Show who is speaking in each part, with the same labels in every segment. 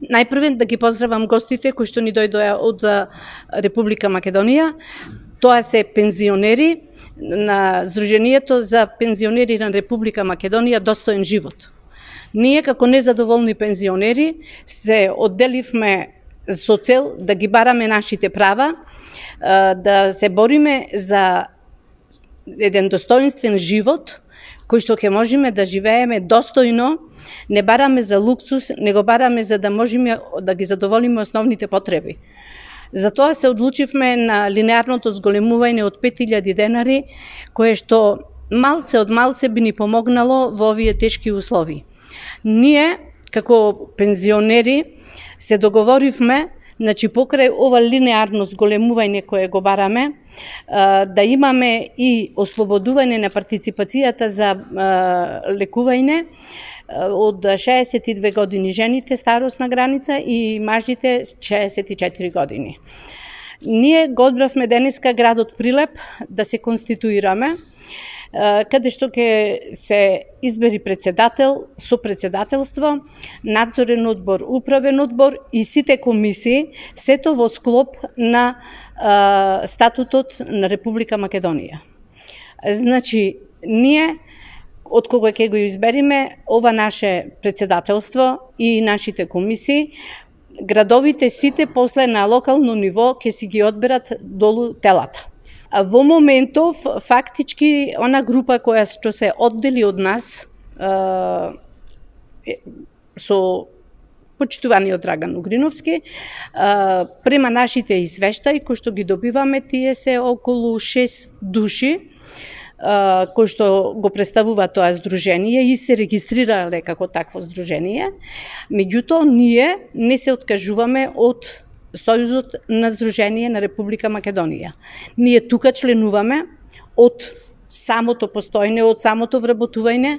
Speaker 1: Најпрвен да ги поздравам гостите кои што ни дојдоа од Република Македонија. Тоа се пензионери на Сдруженијето за пензионери на Република Македонија Достоен живот. Ние како незадоволни пензионери се одделивме со цел да ги бараме нашите права, да се бориме за еден достоинствен живот кој што ќе можеме да живееме достојно. Не бараме за луксус, не го бараме за да можеме да ги задоволиме основните потреби. Затоа се одлучивме на линеарното зголемување од 5000 денари, кое што малце од малце би ни помогнало во овие тешки услови. Ние, како пензионери, се договоривме, значи покрај ова линеарно зголемување кое го бараме, да имаме и ослободување на партиципацијата за лекување од 62 години жените старосна граница и мажите 64 години. Ние го одбравме денеска градот Прилеп да се конституираме, каде што ќе се избери председател, сопредседателство, надзорен одбор, управен одбор и сите комисии, сето во склоп на статутот на Република Македонија. Значи, ние од кога ќе го избериме ова наше председателство и нашите комисии, градовите сите после на локално ниво ќе си ги одберат долу телата. А во моментов, фактички, она група која што се оддели од нас, со почитуваниот Драган Угриновски, према нашите извештаи, кои што ги добиваме, тие се околу 6 души, кои што го представува тоа здружение и се регистрирале како такво здружение. Меѓутоа, ние не се откажуваме од Сојузот на Здружение на Република Македонија. Ние тука членуваме од самото постојне, од самото вработување,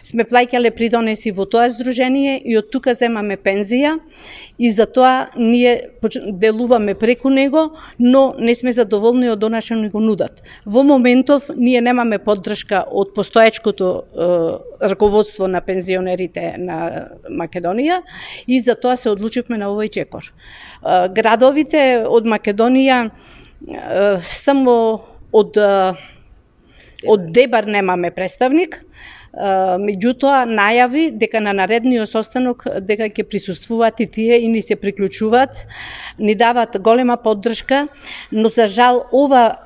Speaker 1: сме плаќале придонеси во тоа здружение и од тука земаме пензија и затоа ние делуваме преку него, но не сме задоволни од она што ни го нудат. Во моментов ние немаме поддршка од постоечкото раководство на пензионерите на Македонија и затоа се одлучивме на овој чекор. Градовите од Македонија само од Дебар немаме представник, меѓутоа најави дека на наредниот состанок дека ќе присуствуваат и тие и ни се приклучуваат, ни дават голема поддршка, но за жал ова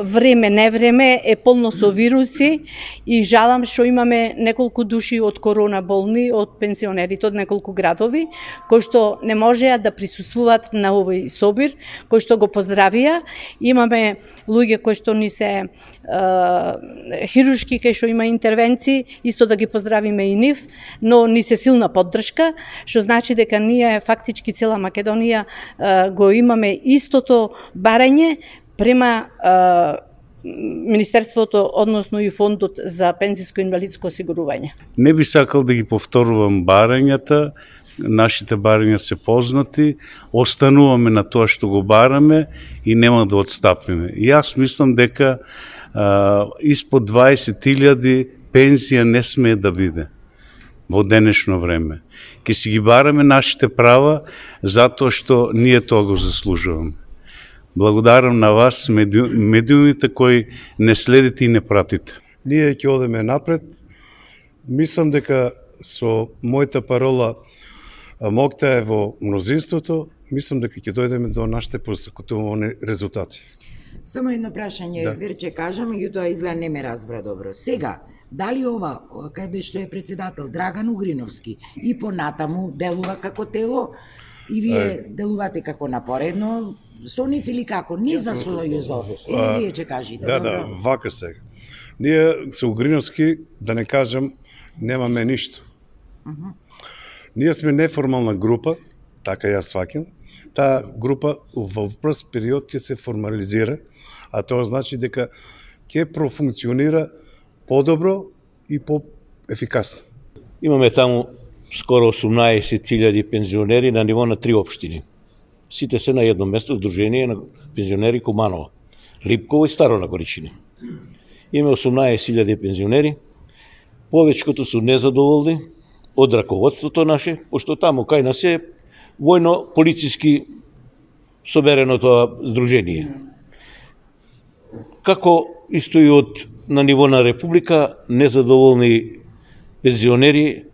Speaker 1: време невреме е полно со вируси и жалам што имаме неколку души од корона болни, од пензионерите од неколку градови, кои што не можеа да присуствуваат на овој собир, кои што го поздравија. Имаме луѓе кои што ни се хируршки, кај што има интервенции, исто да ги поздравиме и нив, но ни се силна поддршка, што значи дека ние фактички цела Македонија го имаме истото барање према Министерството, односно и Фондот за пензиско-инвалидско осигурување.
Speaker 2: Не би сакал да ги повторувам барањата, нашите барања се познати, остануваме на тоа што го бараме и нема да отстапиме. И јас мислам дека испод 20.000 пензија не смее да биде во денешно време. Ке си ги бараме нашите права затоа што ние тоа го заслужуваме. Благодарам на вас, медиумите кои не следите и не пратите.
Speaker 3: Ние ќе одеме напред. Мислам дека со мојата парола моќта е во мнозинството, мислам дека ќе дојдеме до нашите постигнати резултати.
Speaker 4: Само едно прашање,
Speaker 3: Да.
Speaker 4: Верче кажа, меѓутоа изгледа не ме разбра добро. Сега, дали ова, каде што е председател Драган Угриновски и понатаму делува како тело, и вие делувате како напоредно со нив или како? Не за Сојузов. Или вие ќе кажете?
Speaker 3: Да,
Speaker 4: добро?
Speaker 3: да, вака сега. Ние со Угриновски, да не кажам, немаме ништо. Ние сме неформална група, така ја сваќам. Таа група во прв период ќе се формализира, а тоа значи дека ќе профункционира подобро и поефикасно.
Speaker 5: Имаме таму скоро 18.000 пензионери на ниво на 3 општини. Сите се на едно место, Сдружение на пензионери Куманово, Липково и Старо Нагоричине. Имаме 18.000 пензионери, повеќкото се незадоволни од раководството наше, пошто таму кај нас е војно-полициски соберено тоа здружение. Како исто и на ниво на Република, незадоволни пензионери,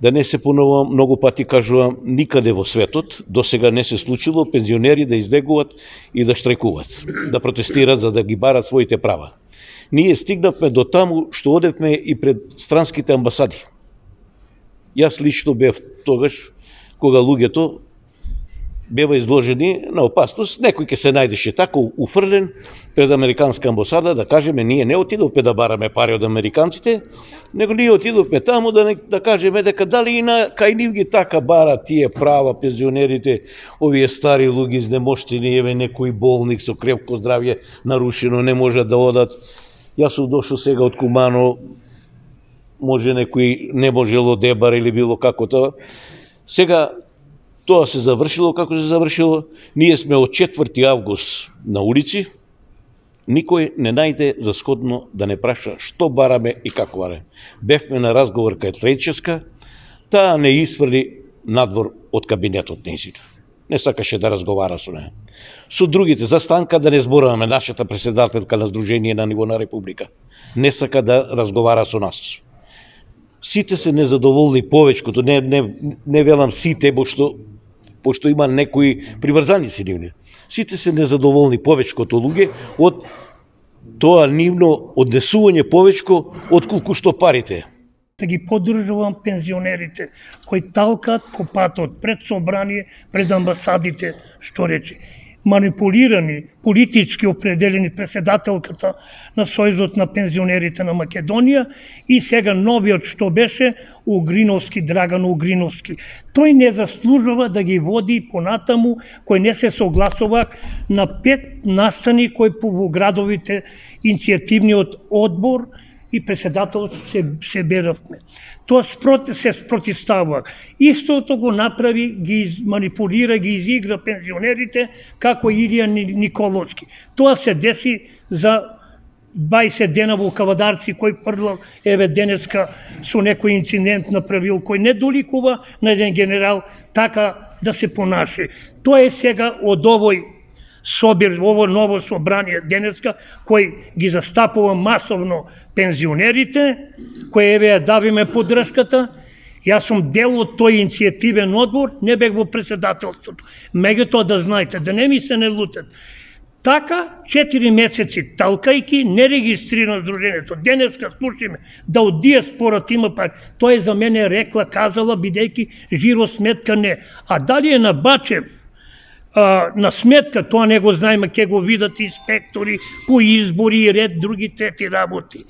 Speaker 5: да не се понова, многу пати кажувам, никаде во светот до сега не се случило пензионери да излегуват и да штрекуват, да протестират за да ги барат своите права. Ние стигнавме до таму што одевме и пред странските амбасади. Јас лично бев тогаш, кога луѓето бева изложени на опасност, некој ќе се најдеше тако уфрлен пред американска амбасада да кажеме ние не отидовме да бараме пари од американците, него ние отидовме таму да кажеме дека дали и кај нив ги така барат тие права пензионерите, овие стари луѓе изнемоштени, еве некој болник со крепко здравје нарушено не можат да одат. Јас сум дошол сега од Кумано, може некој не можело дебар или било како тоа. Сега тоа се завршило како се завршило. Ние сме од 4 август на улици. Никој не најде за сходно да не праша што бараме и како бараме. Бевме на разговор кај Трајческа, таа не isfrли надвор од кабинетот нејзина. Не сакаше да разговара со неја. Со другите, за станка да не зборуваме, нашата председателка на Сдружение на ниво на Република не сака да разговара со нас. Сите се незадоволни, повечкото, не велам сите, пошто има некои приврзаници нивни. Сите се незадоволни, повечкото луѓе, од тоа нивно однесување повечко отколку што парите.
Speaker 6: Да ги поддржувам пензионерите кои талкат по патот пред собрание, пред амбасадите, што рече. Манипулирани, политички определени председателката на Сојузот на пензионерите на Македонија и сега новиот што беше Угриновски, Драган Угриновски. Тој не заслужува да ги води понатаму, кој не се согласува на 5 настани кои во градовите иницијативниот одбор и председател се беравме. Тоа се спротивстава. Истото го направи, ги манипулира, ги изигра пензионерите како Илија Николовски. Тоа се деси за 20 дена во Кавадарци, кој првлав, еве денеска со некој инцидент направил, кој не доликува на еден генерал така да се понаше. Тоа е сега од овој собир, ово ново собрание денеска, кој ги застапува масовно пензионерите, кој еве ја давиме поддршката. Јас сум дел од тој иницијативен одбор, не бег во председателството. Меѓутоа да знаете, да не ми се не лутат. Така, 4 месеци талкајки, не регистрирано здружението. Денеска слушаме да од диаспората има пари. Тоа е за мене рекла, казала, бидејќи жиро сметка не. А дали е на Бачев, на сметка, тоа не го знаеме, ќе го видат инспектори по избори и ред други трети работи.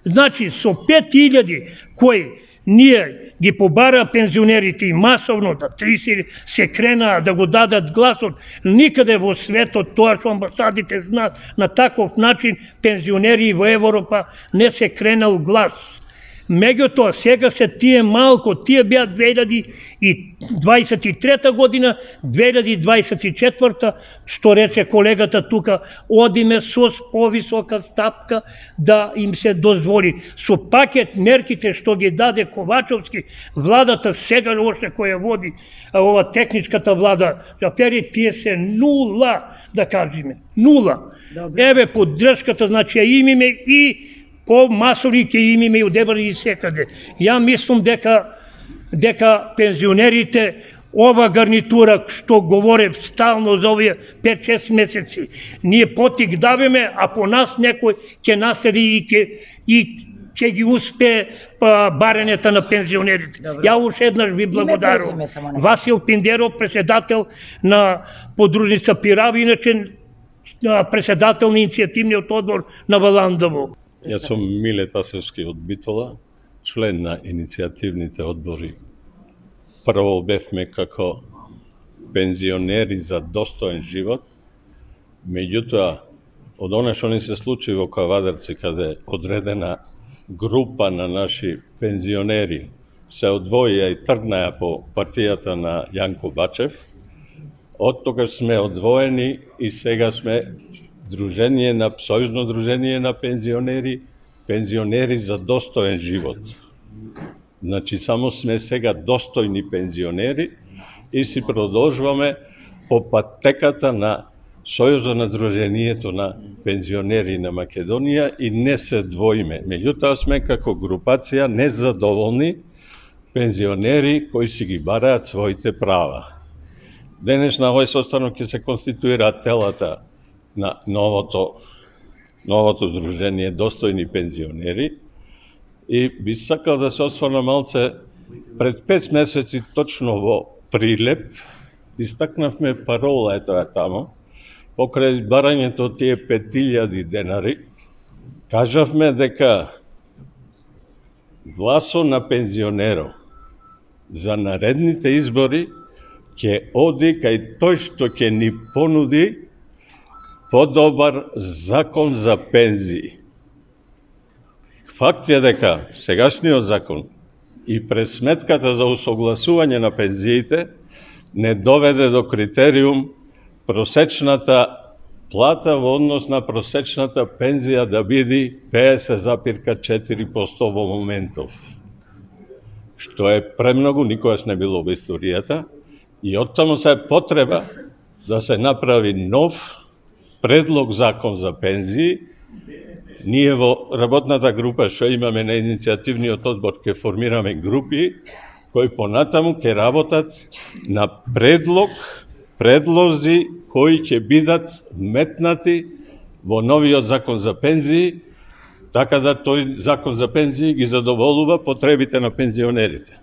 Speaker 6: Значи, со 5000 кои ние ги побара пензионерите и масовно да 30 се кренаа да го дадат гласот, никаде во светот тоа што амбасадите знаат на таков начин пензионери во Европа не се кренал глас. Меѓутоа, сега се тие малко, тие беа 2023 година, 2024, што рече колегата тука, одиме со повисока стапка да им се дозволи. Со пакет мерките што ги даде Ковачовски, владата сега още која води ова техничката влада, пери тие се нула, да кажеме, нула. Еве поддршката, значи ја имаме и по масови ќе имаме и одебали и секаде. Ја мислам дека пензионерите, ова гарнитура што говоре стално за овие 5-6 месеци, ние потик давиме, а по нас некој ќе наследи и ќе ги успее барењето на пензионерите. Ја уште еднаш ви благодарувам. Васил Пиндеров, председател на подружница Пирави, иначе председател на иницијативниот одбор на Валандово.
Speaker 7: Јас сум Миле Тасевски од Битола, член на иницијативните одбори. Прво бевме како пензионери за достоен живот, меѓутоа, од оно што ни се случи во Кавадарци, каде одредена група на наши пензионери се одвоија и тргнаја по партијата на Јанко Бачев, од тогаш сме одвоени и сега сме Сојузно дружение на пензионери, пензионери за достоен живот. Значи, само сме сега достојни пензионери и си продолжуваме по патеката на Сојузот на Сдруженијето на пензионери на Македонија и не се двоиме. Меѓутоа сме како групација незадоволни пензионери кои си ги бараат своите права. Денес на овој состанок ќе се конституираат телата на новото Сдружение Достојни пензионери и би сакал да се осврнам малце. Пред 5 месеци точно во Прилеп истакнавме парола таму, покрај барањето од тие 5000 денари, кажавме дека гласо на пензионеров за наредните избори ќе оди кај тој што ќе ни понуди подобар закон за пензии. Факт е дека сегашниот закон и пресметката за усогласување на пензиите не доведе до критериум просечната плата во однос на просечната пензија да биде 50,4% во моментов. Што е премногу, никогаш не било во историјата, и оттаму се е потреба да се направи нов предлог закон за пензии. Ние во работната група што имаме на иницијативниот одбор ќе формираме групи кои понатаму ќе работат на предлози кои ќе бидат вметнати во новиот закон за пензии, така да тој закон за пензии ги задоволува потребите на пензионерите.